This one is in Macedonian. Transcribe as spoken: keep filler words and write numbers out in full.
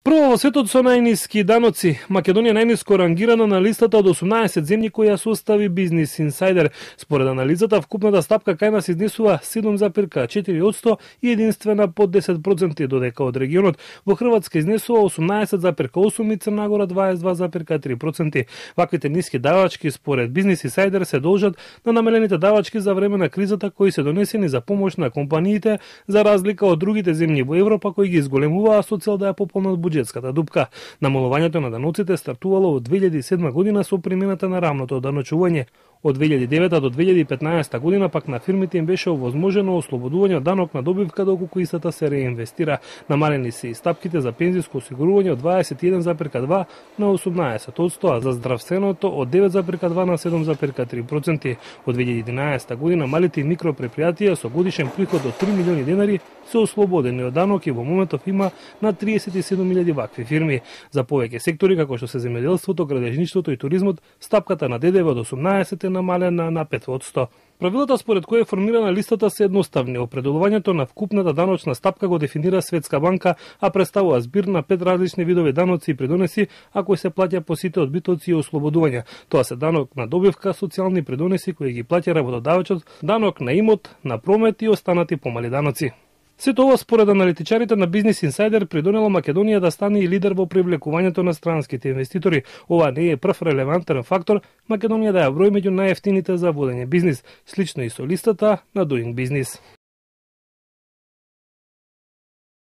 Прво во светот со најниски даноци, Македонија најниско рангирана на листата од осумнаесет земји кои ја состави Бизнис Инсайдер. Според анализата, вкупната стапка кај нас изнесува седум запирка четири одсто и единствена под десет проценти, додека од регионот во Хрватска изнесува осумнаесет запирка осум и Црна Гора дваесет и два запирка три проценти. Ваквите ниски давачки според Бизнис Инсайдер се должат на намалените давачки за време на кризата кои се донесени за помош на компаниите, за разлика од другите земји во Европа кои ги изголемуваа со цел да ја пополнат буџетската дупка. Намалувањето на даноците стартувало од две илјади и седма година со примената на рамното даночување. Од две илјади и девета до две илјади и петнаесета година пак на фирмите им беше овозможено ослободување од данок на добивка доколку истата се реинвестира. Намалени се и стапките за пензиско осигурување од дваесет и еден запирка два на осумнаесет одсто, а за здравственото од девет запирка два на седум запирка три проценти. Од две илјади и единаесета година малите и микропредпријатија со годишен приход од три милиони денари се ослободени од данок и во моментов има на триесет и седум илјади вакви фирми. За повеќе сектори како што се земјоделството, градежништвото и туризмот, стапката на ДДВ од осумнаесет е намалена на пет одсто. Правилата според кои е формирана листата се едноставни. Определувањето на вкупната даночна стапка го дефинира Светска банка, а представува збир на пет различни видови даноци и придонеси, а кои се плаќа по сите одбитоци и ослободувања. Тоа се данок на добивка, социјални придонеси кои ги плаќа работодавачот, данок на имот, на промет и останати помали даноци. Сето ова според аналитичарите на Бизнис Инсайдер придонело Македонија да стане и лидер во привлекувањето на странските инвеститори. Ова не е прв релевантен фактор Македонија да ја брои меѓу најевтините за водење бизнис, слично и со листата на Doing Business.